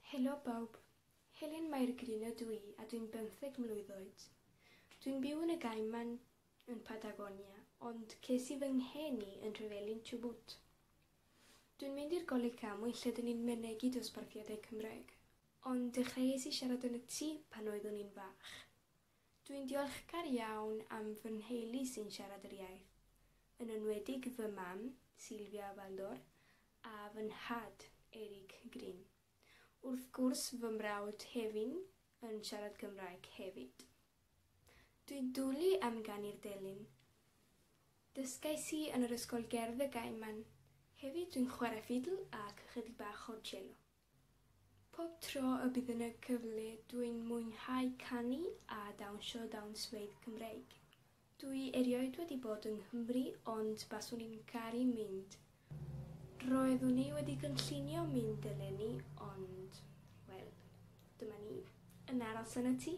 Helo bawb, Helen Mair Green ydw i a dwi'n bymtheg mlwydd oed. Dwi'n byw yn y Gaiman yn Patagonia, ond ces i fy ngheni yn Nhrevelin, Chubut. Dwi'n mynd i'r Goleg Camwy lle dyn ni'n mynegi dosbarthiadau Cymraeg, ond dechreuais i siarad yn y tŷ pan oeddwn i'n fach. Dwi'n diolchgar iawn am fy nheulu sy'n siarad yr iaith, yn enwedig fy mam, Sylvia Baldor, a fy nhad, Eric Green. Wrth gwrs fy mrawd Hefin yn siarad Cymraeg hefyd. Dwi'n dwlu am ganu'r delyn. Dysgais i yn yr ysgol gerdd y Gaiman. Hefyd dwi'n chwarae ffidl ac ychydig bach o cello. Pob tro y bydd yna cyfle dwi'n mwynhau canu a dawnsio dawnsfeydd Cymreig. Dwi erioed wedi bod yng Nghymru ond baswn i'n caru mynd. Roeddwn i wedi cynllunio mynd eleni ond, wel, dyma ni, yn aros yn y tŷ.